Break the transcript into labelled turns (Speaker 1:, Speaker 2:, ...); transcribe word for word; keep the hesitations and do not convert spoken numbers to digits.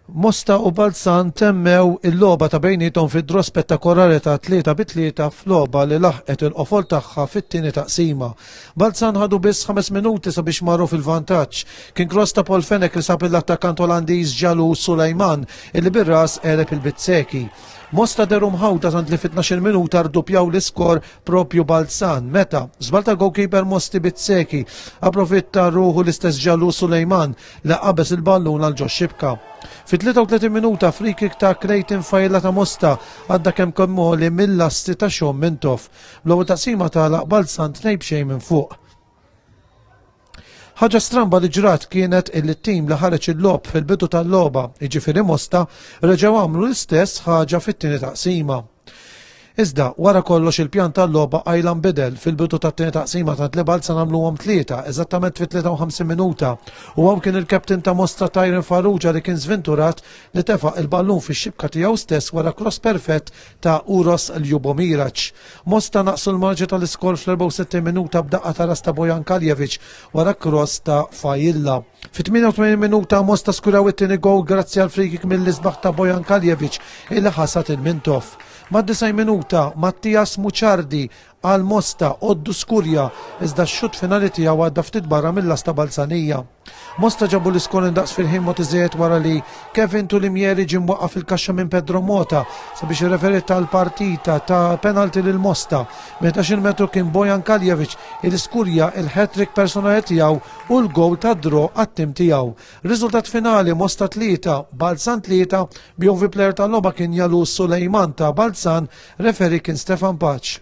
Speaker 1: Mosta u Balzan temmew il-logħba ta' bejniethom fi draw spettakolari ta' tlieta bi tlieta f'logħba li laħqet il-qofol tagħha fit-tieni taqsima. Balzan ħadu biss ħames minuti sabiex marru fil-vantaġġ. Kien cross ta' Paul Fenech li sab l-attakkant Olandiż Ġalu Sulejman illi bir-ras għeleb il-Bizzeki. Mosta dehru mħawda tant li fit-tnax-il minuta rduppjaw l-iskor propju Balzan. Meta żball tal-goalkeeper Mosti Bizzeki approfitta ruħu l-istess Ġalu Sulejman li qabeż il-ballun għal ġo xibka. Fit-tlieta u tletin minuta free kick ta' Clayton Fajla ta' Mosta għadda kemm kemmoli mill-lasti ta' Sean Mintoff. Bl-ewwel taqsima tagħlaq Balzan tnejn b'xejn minn fuq. Ħaġa stramba li ġrat kienet illi t-tim li ħareġ il-logħob fil-bidu tal-logħba, jiġifieri Mosta, reġgħu għamlu l-istess ħaġa fit-tieni taqsima. Iżda, wara kollox il-pjan tal-logħba qajla nbidel fil-bidu tat-tieni taqsima tant li Balzan għamluhom tlieta, eżattament fit-tlieta u ħamsin minuta. U hawn kien il-kaptin ta' Mosta Tyron Farrugia li kien sventurat li tefa' il-ballun fix-xibka tiegħu stess wara cross perfett ta' Uros Ljubomirac. Mosta naqsu l-marġi tal-iskor fl-erbgħa u sittin minuta b'daqqa ta' ras ta' Bojan Kaljevic wara cross ta' Fajilla. Fit-tmienja u tmenin minuta Mosta skuraw it-tieni goal grazzi għal free kick mill-isbaħ ta' Bojan Kaljevic illi ħasat il-Mintoff. Mad-disgħin minuta Mattias Muċardi għal Mosta għoddu skurja, iżda x-xut finali tiegħu għadda ftit barra mill-lasta Balzanija. Mosta ġabu l-iskor indaqs fil-ħin mogħti wara li Kevin Tulimieri ġie mwaqqaf fil-kaxxa minn Pedro Mota sabiex ir-referee tal-partita ta penalti lil Mosta. Minn metru kien Bojan Kaljevic il-skurja il-hat-trick personali tiegħu u l-goal ta' draw għat-tim tiegħu. Riżultat finali Mosta tlieta, Balzan tlieta, B O V player tal-logħba kien Jalu Sulejman ta' Balzan, referee kien Stefan Paċ.